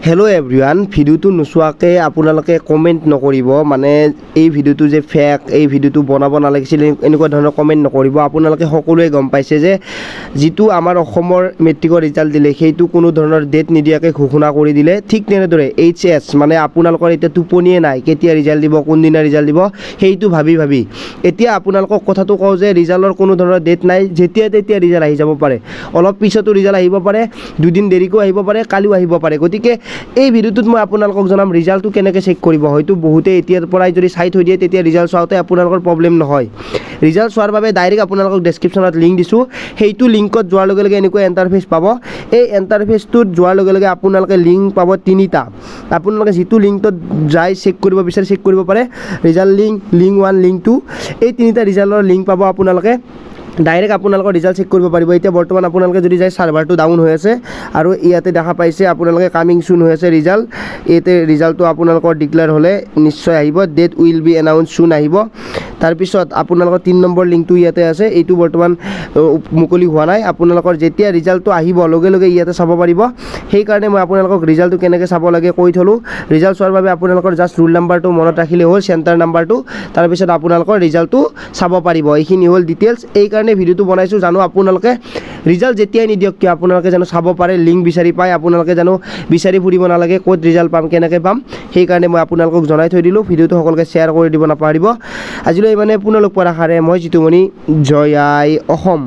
Hello' everyone, ভিডিঅ'টো নোচোৱাকৈ আপোনালোকে কমেণ্ট নকৰিব, মানে এই ভিডিঅ'টো যে ফেক, এই ভিডিঅ'টো বনাব নালাগিছিল, এনেকুৱা ধৰণৰ কমেণ্ট নকৰিব। আপোনালোকে সকলোৱে গম পাইছে যে যিটো আমাৰ অসমৰ মেট্ৰিকৰ ৰিজাল্ট দিলে সেইটো কোনো ধৰণৰ ডেট নিদিয়াকৈ ঘোষণা কৰি দিলে। ঠিক তেনেদৰে এইচ এছ মানে আপোনালোকৰ এতিয়া টোপনিয়ে নাই, কেতিয়া ৰিজাল্ট দিব, কোনদিনা ৰিজাল্ট দিব সেইটো ভাবি ভাবি। এতিয়া আপোনালোকক কথাটো কওঁ যে ৰিজাল্টৰ কোনো ধৰণৰ ডেট নাই, যেতিয়া তেতিয়া ৰিজাল্ট আহি যাব পাৰে, অলপ পিছতো ৰিজাল্ট আহিব পাৰে, দুদিন দেৰিকৈও আহিব পাৰে, কালিও আহিব পাৰে। গতিকে এই ভিডিঅ'টোত মই আপোনালোকক জনাম ৰিজাল্টটো কেনেকৈ চেক কৰিব। হয়তো বহুতে এতিয়াৰ পৰাই যদি চাই থৈ দিয়ে তেতিয়া ৰিজাল্ট চাওঁতে আপোনালোকৰ প্ৰব্লেম নহয়। ৰিজাল্ট চোৱাৰ বাবে ডাইৰেক্ট আপোনালোকক ডেছক্ৰিপশ্যনত লিংক দিছোঁ, সেইটো লিংকত যোৱাৰ লগে লগে এনেকুৱা এণ্টাৰফেচ পাব। এই এণ্টাৰফেচটোত যোৱাৰ লগে লগে আপোনালোকে লিংক পাব তিনিটা। আপোনালোকে যিটো লিংকটোত যাই চেক কৰিব বিচাৰে চেক কৰিব পাৰে। Result link, link 1, link 2, এই তিনিটা ৰিজাল্টৰ লিংক পাব আপোনালোকে। ডাইৰেক্ট আপোনালোকৰ ৰিজাল্ট চেক কৰিব পাৰিব। এতিয়া বৰ্তমান আপোনালোকে যদি যায় ছাৰ্ভাৰটো ডাউন হৈ আছে আৰু ইয়াতে দেখা পাইছে আপোনালোকে কামিং চুন হৈ আছে ৰিজাল্ট। ইয়াতে ৰিজাল্টটো আপোনালোকৰ ডিক্লেয়াৰ হ'লে নিশ্চয় আহিব, date will be announce soon আহিব। তাৰপিছত আপোনালোকৰ 3 নম্বৰ লিংকটো ইয়াতে আছে, এইটো বৰ্তমান মুকলি হোৱা নাই। আপোনালোকৰ যেতিয়া ৰিজাল্টটো আহিব লগে লগে ইয়াতে চাব পাৰিব। সেইকাৰণে মই আপোনালোকক ৰিজাল্টটো কেনেকৈ চাব লাগে কৈ থ'লোঁ। ৰিজাল্ট চোৱাৰ বাবে আপোনালোকৰ জাষ্ট ৰোল নাম্বাৰটো মনত ৰাখিলে হ'ল, চেণ্টাৰ নাম্বাৰটো, তাৰপিছত আপোনালোকৰ ৰিজাল্টটো চাব পাৰিব। এইখিনি হ'ল ডিটেইলছ। এইকাৰণে ভিডিঅ'টো বনাইছোঁ, জানো আপোনালোকে ৰিজাল্ট যেতিয়াই নিদিয়ক কিয় আপোনালোকে জানো চাব পাৰে, লিংক বিচাৰি পায়, আপোনালোকে জানো বিচাৰি ফুৰিব নালাগে ক'ত ৰিজাল্ট পাম কেনেকৈ পাম। সেইকাৰণে মই আপোনালোকক জনাই থৈ দিলোঁ। ভিডিঅ'টো সকলোকে শ্বেয়াৰ কৰি দিব নাপাহৰিব। আজিলৈ ইমানে, পুনৰ লগ পোৱাৰ আশাৰে মই জিতুমণি, জয় আই অসম।